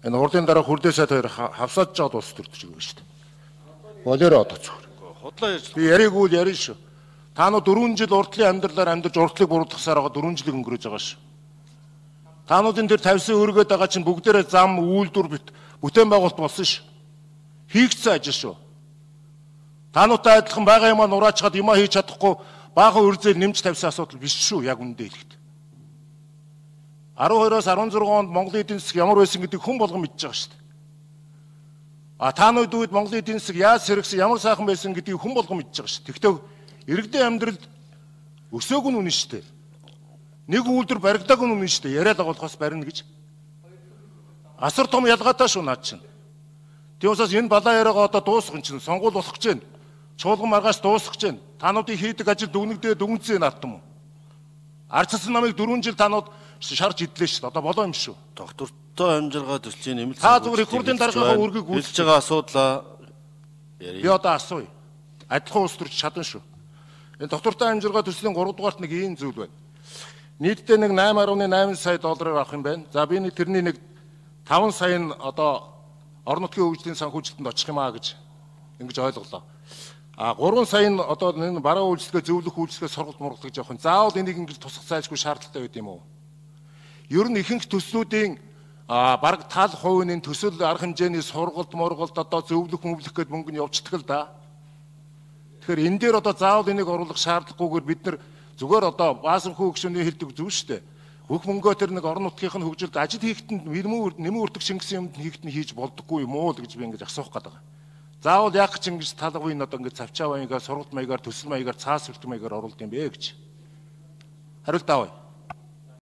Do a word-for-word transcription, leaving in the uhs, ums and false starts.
Энэ урдын дараа хүрдээ сайд хоёр хавсааж жоод ус төрдөж байгаа шүү дээ. Болоороо одоо зөвхөр. Худлаа ярьж. Би яриг үл ярина шүү. Та нар дөрвөн жил урдлын амьдралаар амьдарч урдлыг буруутгахсаар байгаа дөрвөн жилиг өнгөрөөж байгаа шүү. Таануудын дээр тавьсан өргөд байгаа чинь бүгдээрээ зам үйлдвэр бүтээн байгуулалт болсон шүү. Хийгдсэн ажил шүү. Таануудтай адилхан байгаа юмаа нураачгаад юмаа хийж чадахгүй баахан үрзэл нэмж тавьсан асуудал биш шүү. Яг үндэ хэлэхэд. арван хоёроос арван зургаан онд Монголын эдийн засаг ямар байсан гэдгийг хүн болгон мэдж байгаа шүү дээ. А таанууд үед Монголын эдийн засаг яаж сэргсэн, ямар сайхан байсан гэдгийг хүн болгон мэдж байгаа шүү. Тэгвэл иргэдийн амьдралд өсөөг нь үнэн шүү дээ. Нэг үйлдвэр баригдааг нь үнэн шүү дээ. Яриад агуулхаас барина гэж. Асар том ялгаатай шүү наад чинь. Тийм учраас энэ балаа яриагаа одоо дуусгах юм чинь сонгуул болох гэж байна. Чуулган маргааш дуусгах гэж байна. Таануудын хийдэг ажил дүгнэгдээ дүгнцээ наадтам уу? Арчсан намыг дөрвөн жил таанууд шарж идлээ шүү. Одоо болоо юм шүү. Доктортой амжиргаа төслийн нэмэлт та зүгээр их хурлын даргаагаа үргийг үйлчилж байгаа асуудлаа ярив. Би одоо асууя. Адилхан улс төрч чадна шүү. Энэ доктортой амжиргаа төслийн гурав дугаарт нэг ийм зүйл байна. Нийтдээ нэг найман гаруй найман сая доллараар авах юм байна. За би нэг тэрний нэг таван сая нь одоо орон нутгийн хөгжлийн санхүүжилтэнд очих юм аа гэж ингэж ойлголоо. А гурван сая нь одоо энэ бараа үйлчлэгээ зөвлөх үйлчлэгээ сургалт мургалт гэж явах нь заавал энийг ингэж тусах зайлшгүй шаардлагатай байд юм уу? Ер нь ихэнх төслүүдийн бараг тал хувийн төсөл арга хэмжээний сургалт мургалт одоо зөвлөх мөвлөх гэдэг мөнгө нь явцдаг л да. Тэгэхээр энэ дээр одоо заавал энийг оруулах шаардлагагүйгээр бид нар зүгээр одоо баасан хүү гүшүүний хэлдэг зөв шүү дээ. Бүх мөнгөө тэр нэг орон нутгийнхын хөгжилд ажил хийхэд нэмэн нэмэн үрдэг шингэсэн юмд хийхэд нь хийж болдоггүй юм уу гэж би ингэж асуух гээд байгаа. Заавал яг ч ингэж талгын одоо ингэж цавчаа маягаар сургалт маягаар төсөл маягаар цаас хүртэх маягаар оруулд юм бэ гэж. Хариулт авъя.